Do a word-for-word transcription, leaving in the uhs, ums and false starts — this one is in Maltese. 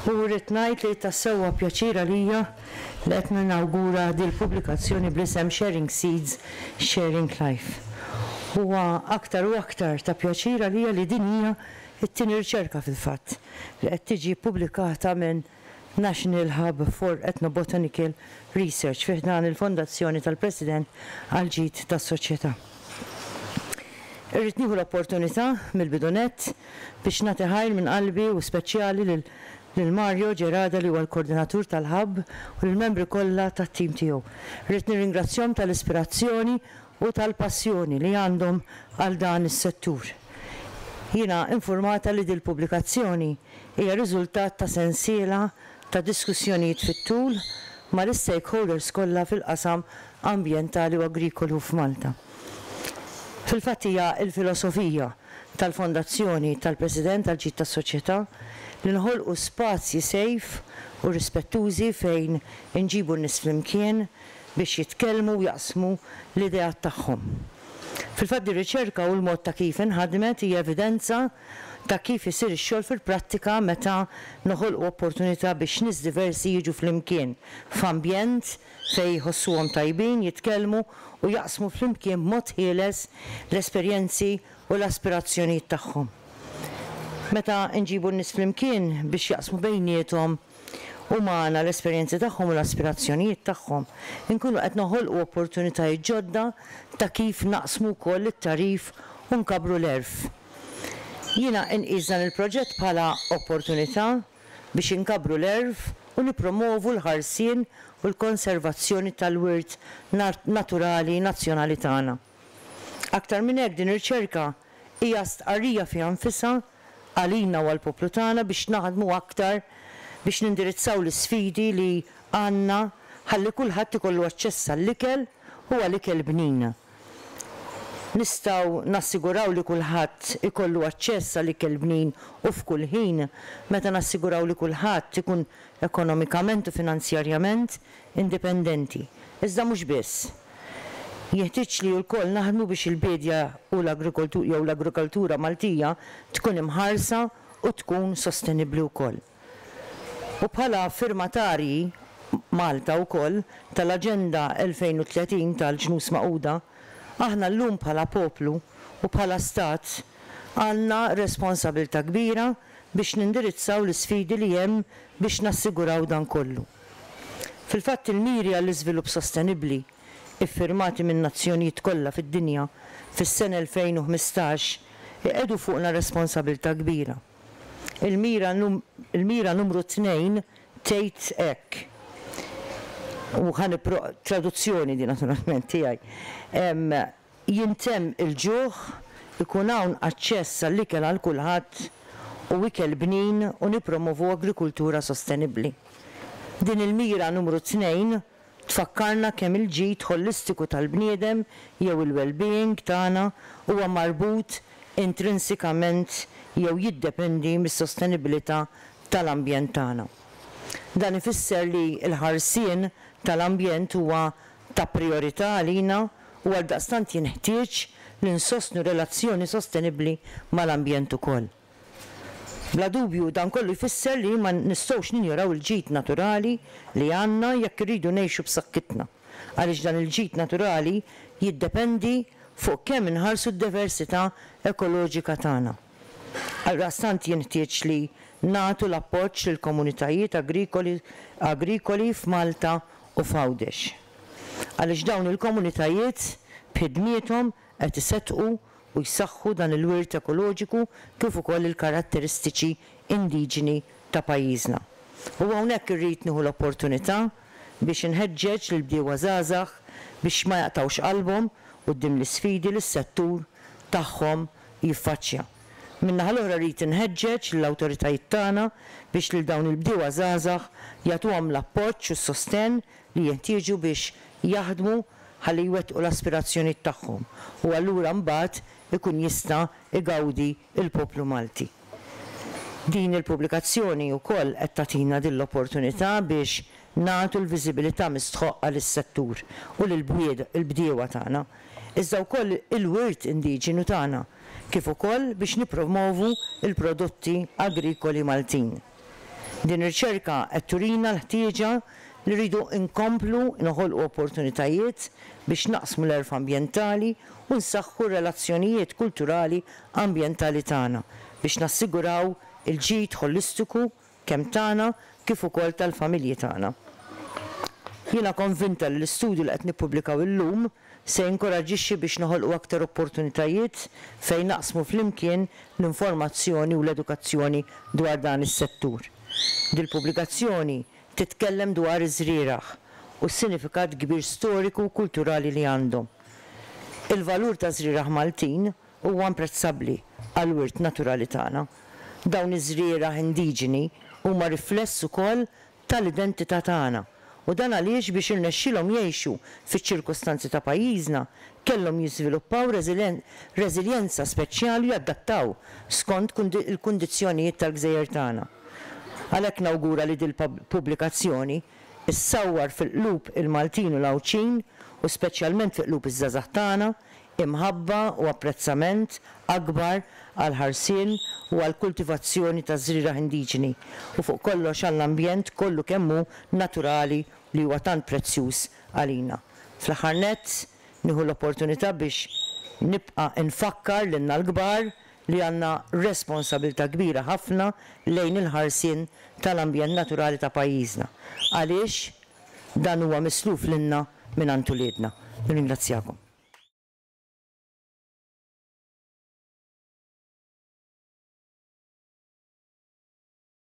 U rrid ngħid li tassew huwa pjaċir għalija li qed ninawgura dil-pubblikazzjoni bl-isem Sharing Seeds, Sharing Life. Huwa aktar u aktar ta' pjaċir għalija li din hija t-tieni riċerka fil-fatt li qed tiġi ppubblikata minn National Hub for Ethnobotanical Research fi ħdan il-Fondazzjoni tal-President għall-Ġid tas-Soċjetà. Irrid nieħu l-opportunità mill-bidu nett biex nagħti ħajr minn qalbi u speċjali lil lil Mario Gerada li huwa l-koordinatur tal-Hub u lill-membri kollha tat-tim tiegħu. Irrid nirringrazzjahom tal-ispirazzjoni u tal-passjoni li għandhom għal dan is-settur. Jiena infurmata li dil-pubblikazzjoni hija riżultat ta' sensiela ta' diskussjonijiet fit-tul mal-istakeholders kollha fil-qasam ambjentali u agrikolu f'Malta. Fil-fatt hija l-filosofija tal-Fondazzjoni tal-President għall-Ġid tas-Soċjetà li nħolqu spazji safe u rispettużi fejn inġibu n-nies flimkien biex jitkellmu u jaqsmu l-ideat tagħhom. Fil-fatt dir-riċerka u l-mod ta' kif inħadmet hija evidenza ta' kif isir ix-xogħol fil-prattika meta noħolqu opportunità biex nies diversi jiġu flimkien f'ambjent fejn jħossuhom tajbin jitkellmu u jaqsmu flimkien b'mod ħieles l-esperjenzi u l-aspirazzjonijiet tagħhom. Meta nġibu n-nies flimkien biex jaqsmu bejniethom u magħna l-esperjenzi tagħhom u l-aspirazzjonijiet tagħhom, inkunu qed noħolqu opportunitajiet ġodda ta' kif naqsmu wkoll it-tagħrif u nkabbru l-għerf. Jiena inqis dan il-proġett bħala opportunità biex inkabbru l-għerf u nippromovu l-ħarsien u l-konservazzjoni tal-wirt naturali nazzjonali tagħna. Aktar minn hekk, din ir-riċerka hija stqarrija fiha nfisha għalina u għall-poplu tagħna biex naħdmu aktar biex nindirizzaw l-isfidi li għandna ħalli kulħadd ikollu aċċess għall-ikel u għal ikel bnin. Nistgħu nassiguraw li kulħadd ikollu aċċess għal ikel bnin u f'kull ħin meta nassiguraw li kulħadd ikun ekonomikament u finanzjarjament indipendenti. Iżda mhux biss. Jeħtieġ li lkoll naħdmu biex il-biedja u l-agrikoltura jew l-agrikoltura Maltija tkun imħarsa u tkun sostenibbli wkoll. U bħala firmatarji Malta wkoll tal-Aġenda elfejn u tletin tal-Ġnus Magħquda, aħna llum bħala poplu u bħala stat għandna responsabilità kbira biex nindirizzaw l-isfidi li hemm biex nassiguraw dan kollu. Fil-fatt il-miri għall-iżvilupp sostenibbli iffirmati min-nazzjonijiet kollha fid-dinja fis-sena elfejn u ħmistax iqiegħdu fuqna responsabilità kbira. Il-mira il-mira numru tnejn tgħid hekk, u ħa nipro traduzzjoni din naturalment tiegħi, jintemm il-ġuħ, ikun hawn aċċess għall-ikel għal kulħadd u ikel bnin u nippromovu agrikultura sostenibbli. Din il-mira numru tnejn tfakkarna kemm il-ġid ħolistiku tal-bniedem jew il-well-being tagħna huwa marbut intrinsikament jew jiddependi mis-sostenibilità tal-ambjent tagħna. Dan ifisser li l-ħarsien tal-ambjent huwa ta' prijorità għalina u għaldaqstant jinħtieġ li nsostnu relazzjoni sostenibbli mal-ambjent ukoll. Bla dubju dan kollu jfisser li ma nistgħux ninjoraw il-ġid naturali li għandna jekk irridu ngħixu b'saħħitna, għaliex dan il-ġid naturali jiddependi fuq kemm inħarsu d-diversità ekoloġika tagħna. Għaldaqstant jinħtieġ li nagħtu l-appoġġ lill-komunitajiet agrikoli agrikoli f'Malta u f'Għawdex. Għaliex dawn il-komunitajiet b'ħidmiethom qed iseddqu u jsaħħu dan il-wirt ekoloġiku kif ukoll il-karatteristiċi indiġeni ta' pajjiżna. U hawnhekk irrid nieħu l-opportunità biex inħeġġeġ lill-bdiewa żgħażagħ biex ma jaqtgħux qalbhom quddiem l-isfidi li s-settur tagħhom jiffaċċja. Min-naħa l-oħra rrid inħeġġeġ lill-awtoritajiet tagħna biex lil dawn il-bdiewa żgħażagħ jagħtuhom l-appoġġ u s-sostenn li jinħtieġu biex jaħdmu ħalli jwettqu l-aspirazzjonijiet tagħhom u allura mbagħad ikun jista' igawdi l-poplu Malti. Din il-pubblikazzjoni wkoll qed tagħtina din l-opportunità biex nagħtu l-viżibilità mistħoqqa lis-settur u lill-bdiewa tagħna, iżda wkoll il-wirt indiġenu tagħna, kif ukoll biex nippromovu l-prodotti agrikoli Maltin. Din ir-riċerka qed turina l-ħtieġa li rridu nkomplu noħolqu opportunitajiet biex naqsmu l-għerf ambjentali u nsaħħu relazzjonijiet kulturali ambjentali tagħna biex nassiguraw il-ġid ħolistiku kemm tagħna kif ukoll tal-familji tagħna. Jiena konvinta li l-istudju li qed nippubblikaw illum se jinkoraġixxi biex noħolqu aktar opportunitajiet fejn naqsmu flimkien l-informazzjoni u l-edukazzjoni dwar dan is-settur. Dil-pubblikazzjoni titkellem dwar iż-żrieragħ u s-sinifikat kbir storiku u kulturali li għandhom. Il-valur ta' żrieragħ Maltin huwa imprezzabbli għall-wirt naturali tagħna. Dawn iż-żrieragħ indiġeni huma rifless ukoll tal-identità tagħna. U dan għaliex biex irnexxilhom jgħixu fiċ-ċirkostanzi ta' pajjiżna kellhom jiżviluppaw reżiljenza speċjali u jadattaw skont il-kundizzjonijiet tal-gżejjer tagħna. Għalhekk nawgura li dil-pubblikazzjoni issawwar fil-qlub il-Maltin u l-Għawdxin u speċjalment fil-qlub iż-żgħażagħ tagħna imħabba u apprezzament akbar għall-ħarsien u għall-kultivazzjoni ta' żrieragħ indiġeni u fuq kollox għall-ambjent kollu kemm hu naturali li huwa tant prezzjuż għalina. Fl-aħħar nett nieħu l-opportunità biex nibqa' nfakkar lilna l-kbar li għandna responsabilità kbira ħafna lejn il-ħarsien tal-ambjent naturali ta' pajjiżna. Għaliex dan huwa misluf lilna minn uliedna. Nirringrazzjakom.